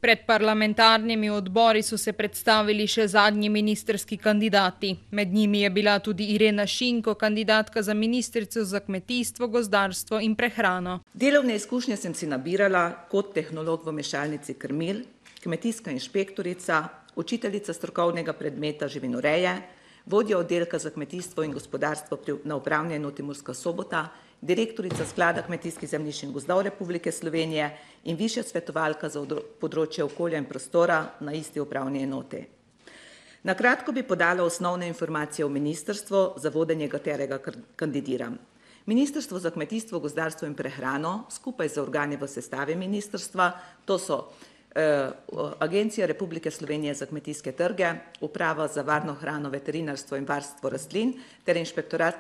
Pred parlamentarnimi odbori so se predstavili še zadnji ministrski kandidati. Med njimi je bila tudi Irena Šinko, kandidatka za ministrico za kmetijstvo, gozdarstvo in prehrano. Delovne izkušnje sem si nabirala kot tehnolog v mešalnici krmil, kmetijska inšpektorica, učiteljica strokovnega predmeta živinoreje, vodja oddelka za kmetijstvo in gospodarstvo na upravni enoti Murska Sobota, direktorica Sklada kmetijskih zemljišč in gozdov Republike Slovenije in višja svetovalka za področje okolja in prostora na isti upravni enoti. Na kratko bi podala osnovne informacije o ministrstvu, za vodenje katerega kandidiram. Ministrstvo za kmetijstvo, gozdarstvo in prehrano skupaj z organi v sestavi ministrstva, to so Agencija Republike Slovenije za kmetijske trge, Uprava za varno hrano, veterinarstvo in varstvo rastlin ter Inšpektorat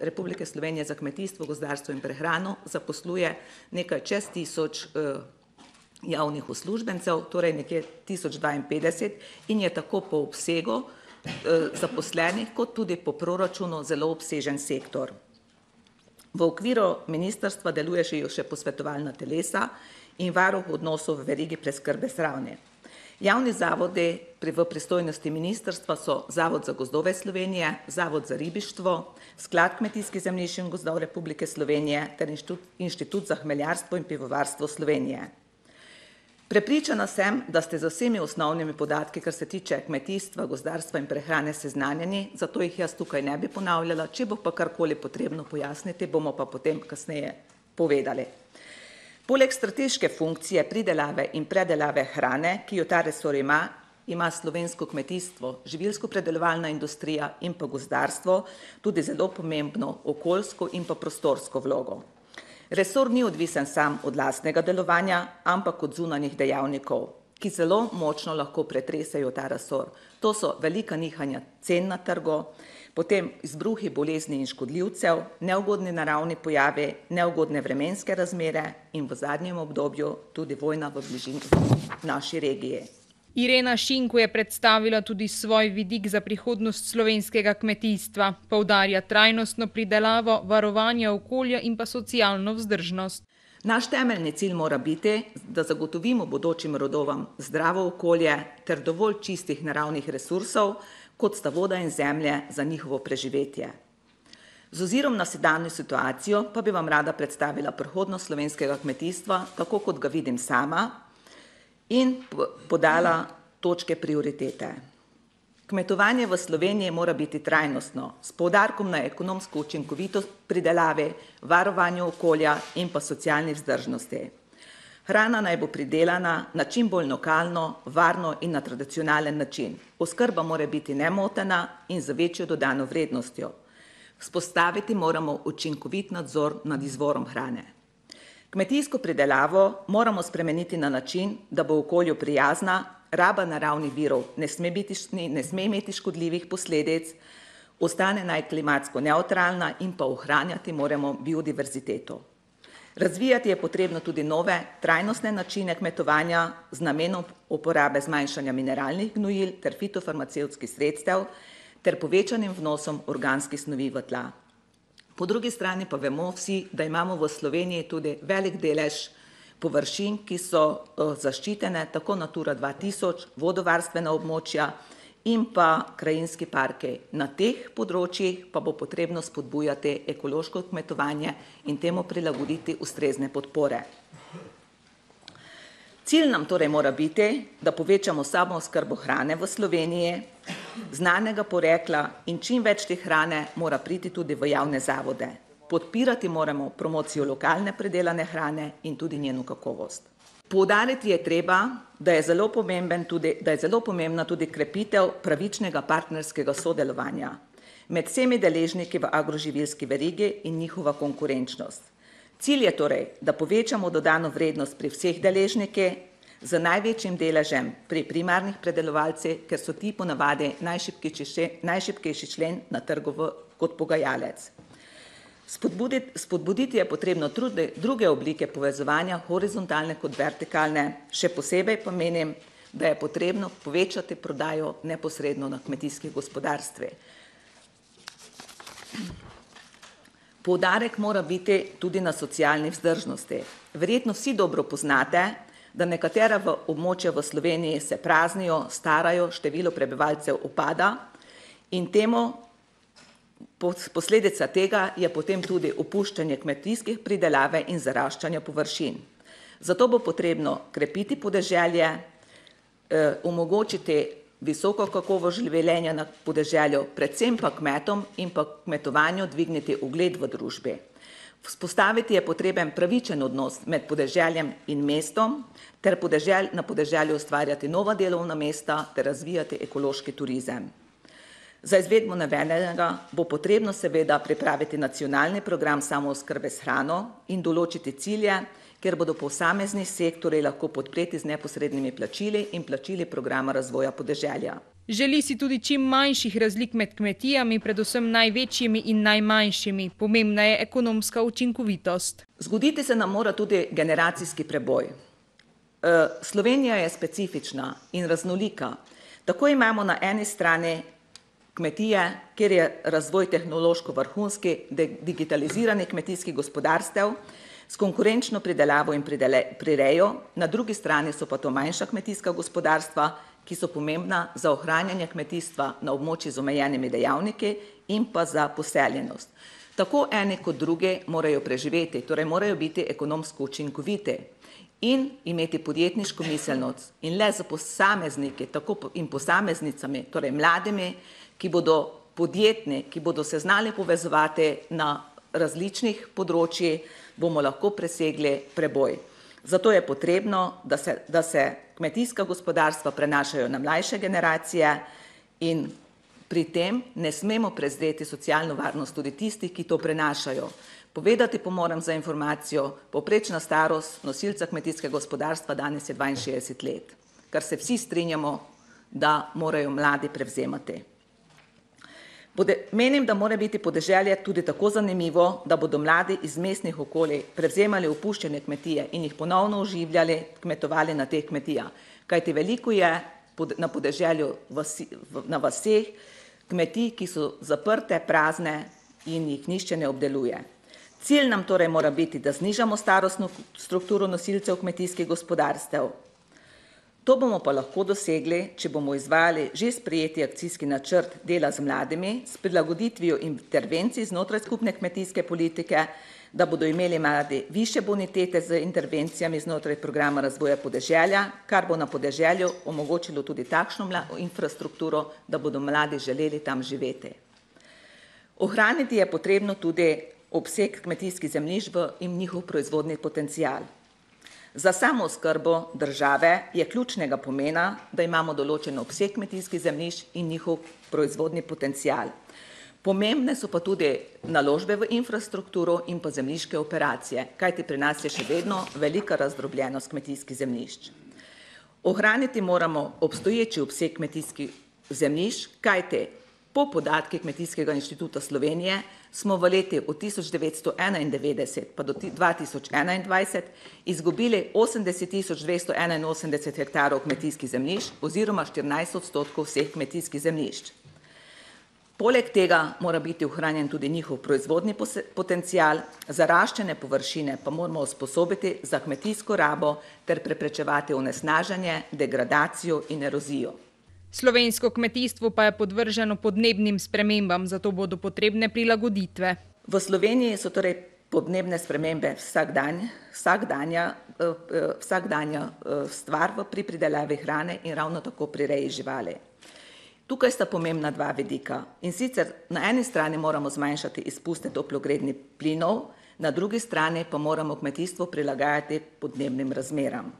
Republike Slovenije za kmetijstvo, gozdarstvo in prehrano zaposluje nekaj čez 1000 javnih uslužbencev, torej nekje 1052 in je tako po obsegu zaposlenih kot tudi po proračunu zelo obsežen sektor. V okviru ministrstva deluje še posvetovalna telesa in varuh odnosov v verigi preskrbe s hrane. Javni zavodi v pristojnosti ministrstva so Zavod za gozdove Slovenije, Zavod za ribištvo, Sklad kmetijskih zemljišč in gozdov Republike Slovenije ter Inštitut za hmeljarstvo in pivovarstvo Slovenije. Prepričana sem, da ste z vsemi osnovnimi podatki, kar se tiče kmetijstva, gozdarstva in prehrane, seznanjeni, zato jih jaz tukaj ne bi ponavljala, če bo pa karkoli potrebno pojasniti, bomo pa potem kasneje povedali. Poleg strateške funkcije pridelave in predelave hrane, ki jo ta resor ima slovensko kmetijstvo, živilsko-predelovalna industrija in pa gozdarstvo tudi zelo pomembno okoljsko in pa prostorsko vlogo. Resor ni odvisen sam od lastnega delovanja, ampak od zunanjih dejavnikov, ki zelo močno lahko pretresajo ta resor. To so velika nihanja cen na trgu, potem izbruhi bolezni in škodljivcev, neugodni naravni pojavi, neugodne vremenske razmere in v zadnjem obdobju tudi vojna v bližini naši regiji. Irena Šinko je predstavila tudi svoj vidik za prihodnost slovenskega kmetijstva. Poudarja trajnostno pridelavo, varovanje okolja in pa socialno vzdržnost. Naš temeljni cilj mora biti, da zagotovimo bodočim rodovom zdravo okolje ter dovolj čistih naravnih resursov, kot sta voda in zemlje za njihovo preživetje. Z ozirom na sedanjo situacijo pa bi vam rada predstavila prihodnost slovenskega kmetijstva, tako kot ga vidim sama, in podala točke prioritete. Kmetovanje v Sloveniji mora biti trajnostno, s poudarkom na ekonomsko učinkovitost pridelave, varovanju okolja in pa socialni vzdržnosti. Hrana naj bo pridelana na čim bolj lokalno, varno in na tradicionalen način. Oskrba mora biti nemotena in z večjo dodano vrednostjo. Vzpostaviti moramo učinkovit nadzor nad izvorom hrane. Kmetijsko pridelavo moramo spremeniti na način, da bo okolju prijazna, raba naravnih virov ne sme imeti škodljivih posledic, ostane naj klimatsko nevtralna in pa ohranjati moramo biodiverziteto. Razvijati je potrebno tudi nove trajnostne načine kmetovanja z namenom uporabe zmanjšanja mineralnih gnojil ter fitofarmacevtskih sredstev ter povečanim vnosom organskih snovi v tla. Po drugi strani pa vemo vsi, da imamo v Sloveniji tudi velik delež površin, ki so zaščitene, tako Natura 2000, vodovarstvena območja in pa krajinski parki. Na teh področjih pa bo potrebno spodbujati ekološko kmetovanje in temu prilagoditi ustrezne podpore. Cilj nam torej mora biti, da povečamo samooskrbo hrane v Sloveniji, znanega porekla in čim več te hrane mora priti tudi v javne zavode. Podpirati moramo promocijo lokalne predelane hrane in tudi njeno kakovost. Poudariti je treba, da je zelo pomembna tudi krepitev pravičnega partnerskega sodelovanja med vsemi deležniki v agroživilski verigi in njihova konkurenčnost. Cilj je torej, da povečamo dodano vrednost pri vseh deležnikih z največjim deležem pri primarnih predelovalcih, ker so ti ponavadi najšibkejši člen na trgu kot pogajalec. Spodbuditi je potrebno druge oblike povezovanja, horizontalne kot vertikalne, še posebej pa menim, da je potrebno povečati prodajo neposredno na kmetijskih gospodarstvih. Poudarek mora biti tudi na socialni vzdržnosti. Verjetno vsi dobro poznate, da nekatera območja v Sloveniji se praznijo, starajo, število prebivalcev upada in posledica tega je potem tudi opuščanje kmetijskih pridelave in zaraščanja površin. Zato bo potrebno krepiti podeželje, omogočiti visoko kakovost življenja na podeželju, predvsem pa kmetom in pa kmetovanju dvigniti ugled v družbi. Vzpostaviti je potreben pravičen odnos med podeželjem in mestom, ter na podeželju ustvarjati nova delovna mesta ter razvijati ekološki turizem. Za izvedbo navedenega bo potrebno seveda pripraviti nacionalni program samooskrbe s hrano in določiti cilje, kjer bodo posamezni sektorji lahko podpreti z neposrednimi plačili in plačili programa razvoja podeželja. Želi si tudi čim manjših razlik med kmetijami, predvsem največjimi in najmanjšimi. Pomembna je ekonomska učinkovitost. Zgoditi se nam mora tudi generacijski preboj. Slovenija je specifična in raznolika. Tako imamo na eni strani kmetije, kjer je razvoj tehnološko vrhunski, digitalizirani kmetijski gospodarstev, s konkurenčno pridelavo in prirejo, na drugi strani so pa to manjša kmetijska gospodarstva, ki so pomembna za ohranjanje kmetijstva na območju z omejenimi dejavniki in pa za poseljenost. Tako eni kot drugi morajo preživeti, torej morajo biti ekonomsko učinkoviti in imeti podjetniško miselnost in le za posamezniki in posameznicami, torej mladimi, ki bodo podjetni, ki bodo se znali povezovati na različnih področjih, bomo lahko presegli preboj. Zato je potrebno, da se kmetijska gospodarstva prenašajo na mlajše generacije in pri tem ne smemo prezreti socialno varnost tudi tistih, ki to prenašajo. Povedati pa moram za informacijo, povprečna starost nosilca kmetijskega gospodarstva danes je 62 let, kar se vsi strinjamo, da morajo mladi prevzemati. Menim, da mora biti podeželje tudi tako zanimivo, da bodo mladi iz mestnih okolij prevzemali opuščene kmetije in jih ponovno oživljali, kmetovali na teh kmetijah. Kajti veliko je na podeželju na vaseh kmetij, ki so zaprte, prazne in jih nihče ne obdeluje. Cilj nam torej mora biti, da znižamo starostno strukturo nosilcev kmetijskih gospodarstev. To bomo pa lahko dosegli, če bomo izvajali že sprejeti akcijski načrt dela z mladimi, s prilagoditvijo intervencij znotraj skupne kmetijske politike, da bodo imeli mladi višje bonitete z intervencijami znotraj programa razvoja podeželja, kar bo na podeželju omogočilo tudi takšno infrastrukturo, da bodo mladi želeli tam živeti. Ohraniti je potrebno tudi obseg kmetijskih zemljišč in njihov proizvodni potencial. Za samooskrbo države je ključnega pomena, da imamo določen obseg kmetijskih zemljišč in njihov proizvodni potencial. Pomembne so pa tudi naložbe v infrastrukturo in pa zemljiške operacije, kajti pri nas je še vedno velika razdrobljenost kmetijskih zemljišč. Ohraniti moramo obstoječi obseg kmetijskih zemljišč, kajti po podatkih Kmetijskega inštituta Slovenije smo v leti od 1991 pa do 2021 izgubili 80.281 hektarov kmetijskih zemljišč oziroma 14% vseh kmetijskih zemljišč. Poleg tega mora biti ohranjen tudi njihov proizvodni potencial, zaraščene površine pa moramo usposobiti za kmetijsko rabo ter preprečevati onesnaženje, degradacijo in erozijo. Slovensko kmetijstvo pa je podvrženo podnebnim spremembam, zato bodo potrebne prilagoditve. V Sloveniji so torej podnebne spremembe vsakdanja stvar pri pridelavi hrane in ravno tako pri reji živali. Tukaj sta pomembna dva vidika. In sicer na eni strani moramo zmanjšati izpuste toplogrednih plinov, na drugi strani pa moramo kmetijstvo prilagajati podnebnim razmeram.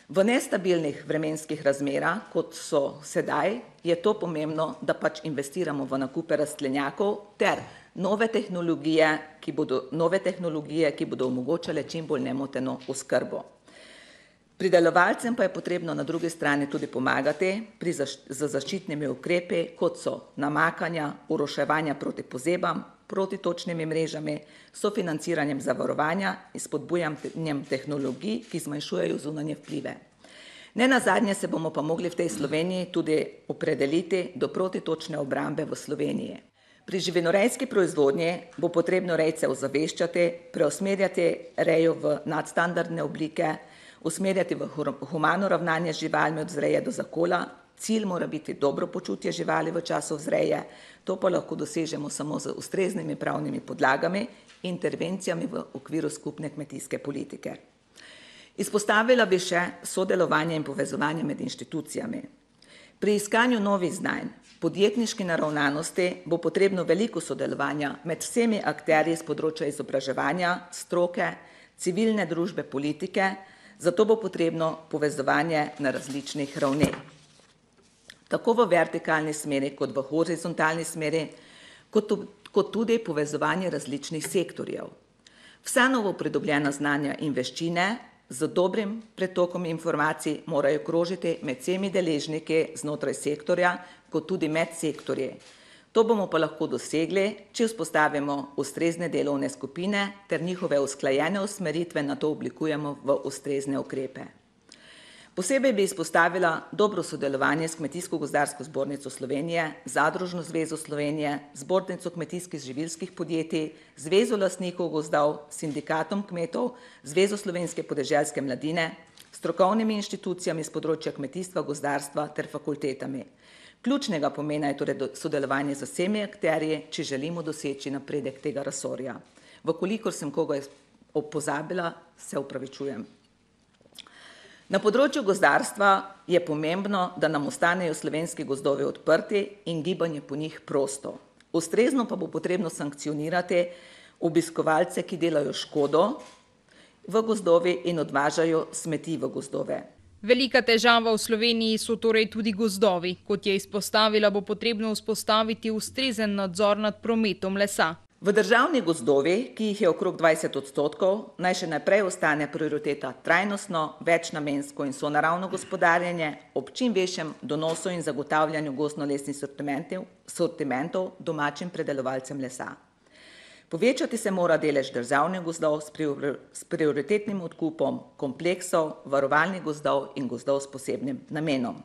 V nestabilnih vremenskih razmerah, kot so sedaj, je to pomembno, da pač investiramo v nakupe rastlinjakov ter nove tehnologije, ki bodo omogočale čim bolj nemoteno oskrbo. Pridelovalcem pa je potrebno na drugi strani tudi pomagati z zaščitnimi ukrepi, kot so namakanja, oroševanja proti pozebam, protitočnimi mrežami, sofinanciranjem zavarovanja in spodbujanjem tehnologij, ki zmanjšujejo zunanje vplive. Nenazadnje se bomo pa mogli v tej Sloveniji tudi opredeliti do protitočne obrambe v Sloveniji. Pri živinorejski proizvodnji bo potrebno rejce ozaveščati, preusmerjati rejo v nadstandardne oblike, usmerjati v humano ravnanje z živalmi od vzreje do zakola. Cilj mora biti dobro počutje živali v času vzreje, to pa lahko dosežemo samo z ustreznimi pravnimi podlagami in intervencijami v okviru skupne kmetijske politike. Izpostavila bi še sodelovanje in povezovanje med inštitucijami. Pri iskanju novih znanj, podjetniški naravnanosti bo potrebno veliko sodelovanja med vsemi akterji z področja izobraževanja, stroke, civilne družbe, politike, zato bo potrebno povezovanje na različnih ravneh. Tako v vertikalni smeri, kot v horizontalni smeri, kot tudi povezovanje različnih sektorjev. Vsa novo pridobljena znanja in veščine z dobrim pretokom informacij morajo krožiti med vsemi deležniki znotraj sektorja, kot tudi med sektorji. To bomo pa lahko dosegli, če vzpostavimo ustrezne delovne skupine ter njihove usklajene usmeritve na to oblikujemo v ustrezne ukrepe. Posebej bi izpostavila dobro sodelovanje s Kmetijsko-gozdarsko zbornico Slovenije, Zadružno zvezo Slovenije, Zbornico kmetijskih živilskih podjetij, Zvezo lastnikov gozdov, Sindikatom kmetov, Zvezo slovenske podeželske mladine, strokovnimi inštitucijami z področja kmetijstva, gozdarstva ter fakultetami. Ključnega pomena je torej sodelovanje z vsemi akterji, če želimo doseči napredek tega resorja. Vkolikor sem koga pozabila, se opravičujem. Na področju gozdarstva je pomembno, da nam ostanejo slovenski gozdovi odprti in gibanje po njih prosto. Ustrezno pa bo potrebno sankcionirati obiskovalce, ki delajo škodo v gozdovi in odvažajo smeti v gozdove. Velika težava v Sloveniji so torej tudi gozdovi. Kot je izpostavila, bo potrebno vzpostaviti ustrezen nadzor nad prometom lesa. V državnih gozdovih, ki jih je okrog 20%, naj še naprej ostane prioriteta trajnostno, večnamensko in sonaravno gospodarjenje ob čim večjem donosu in zagotavljanju gozdno-lesnih sortimentov domačim predelovalcem lesa. Povečati se mora delež državnih gozdov s prioritetnim odkupom kompleksov, varovalnih gozdov in gozdov s posebnim namenom.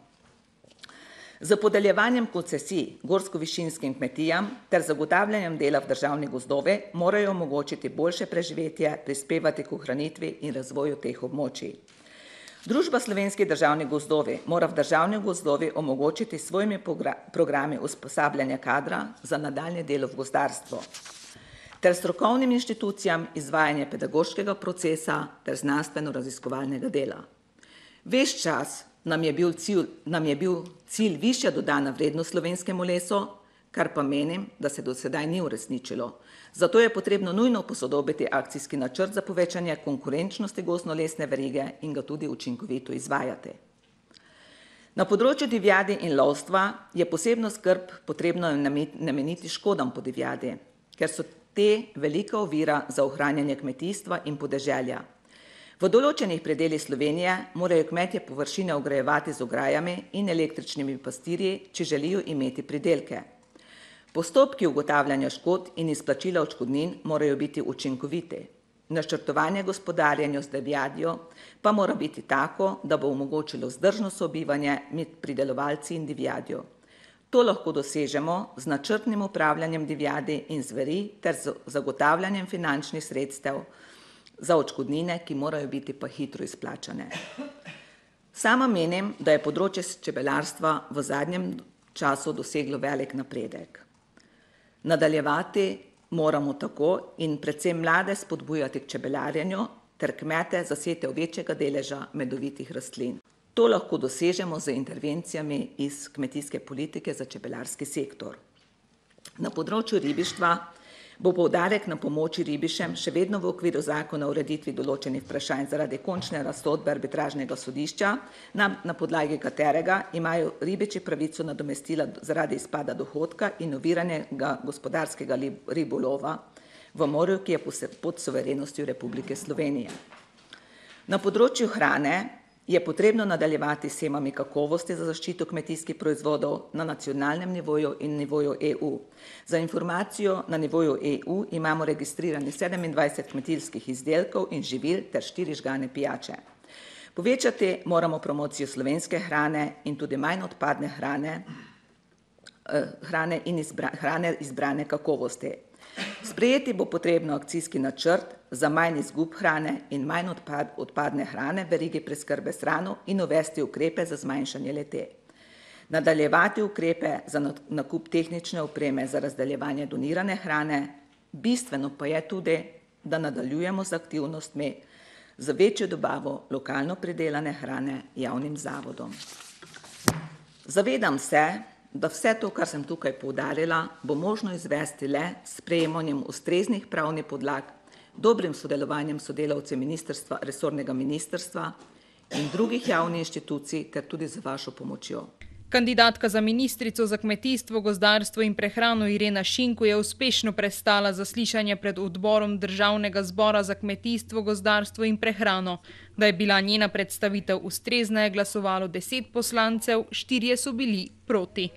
Z podeljevanjem koncesij gorsko-višinskim kmetijam ter zagotavljanjem dela v državnih gozdove morajo omogočiti boljše preživetje, prispevati k ohranitvi in razvoju teh območij. Družba Slovenski državni gozdovi mora v državnih gozdovih omogočiti svojimi programi usposabljanja kadra za nadaljnje delo v gozdarstvu ter strokovnim inštitucijam izvajanje pedagoškega procesa ter znanstveno-raziskovalnega dela. Ves čas nam je bil cilj višja dodana vrednost slovenskemu lesu, kar pa menim, da se do sedaj ni uresničilo. Zato je potrebno nujno posodobiti akcijski načrt za povečanje konkurenčnosti gozdno-lesne verige in ga tudi učinkovito izvajati. Na področju divjadi in lovstva je posebno skrb potrebno nameniti škodam po divjadi, ker so te velika ovira za ohranjanje kmetijstva in podeželja. V določenih predelih Slovenije morajo kmetje površine ograjevati z ograjami in električnimi pastirji, če želijo imeti pridelke. Postopki ugotavljanja škod in izplačila odškodnin morajo biti učinkoviti. Načrtovanje gospodarjenja z divjadjo pa mora biti tako, da bo omogočilo vzdržno sobivanje med pridelovalci in divjadjo. To lahko dosežemo z načrtnim upravljanjem divjadi in zveri ter z zagotavljanjem finančnih sredstev za odškodnine, ki morajo biti pa hitro izplačane. Sama menim, da je področje čebelarstva v zadnjem času doseglo velik napredek. Nadaljevati moramo tako in predvsem mlade spodbujati k čebelarjenju ter kmete zasetev večjega deleža medovitih rastlin. To lahko dosežemo z intervencijami iz kmetijske politike za čebelarski sektor. Na področju ribištva bo poudarek na pomoči ribišem še vedno v okviru zakona o ureditvi določenih vprašanj zaradi končne razsodbe arbitražnega sodišča, na podlagi katerega imajo ribiči pravico nadomestila zaradi izpada dohodka in oviranega gospodarskega ribolova v morju, ki je pod suverenostjo Republike Slovenije. Na področju hrane je potrebno nadaljevati s shemami kakovosti za zaščito kmetijskih proizvodov na nacionalnem nivoju in nivoju EU. Za informacijo, na nivoju EU imamo registrirani 27 kmetijskih izdelkov in živil ter 4 žgane pijače. Povečati moramo promocijo slovenske hrane in tudi manj odpadne hrane in hrane izbrane kakovosti. Sprejeti bo potrebno akcijski načrt za manj izgub hrane in manj odpadne hrane v verigi preskrbe s hrano in uvesti ukrepe za zmanjšanje le-te. Nadaljevati ukrepe za nakup tehnične opreme za razdeljevanje donirane hrane, bistveno pa je tudi, da nadaljujemo z aktivnostmi za večjo dobavo lokalno pridelane hrane javnim zavodom. Zavedam se, da vse to, kar sem tukaj poudarila, bo možno izvesti le s sprejemanjem ustreznih pravnih podlag, dobrim sodelovanjem sodelavcev resornega ministrstva in drugih javnih inštitucij ter tudi z vašo pomočjo. Kandidatka za ministrico za kmetijstvo, gozdarstvo in prehrano Irena Šinko je uspešno prestala zaslišanje pred odborom Državnega zbora za kmetijstvo, gozdarstvo in prehrano. Da je bila njena predstavitev ustrezna, je glasovalo 10 poslancev, 4 so bili proti.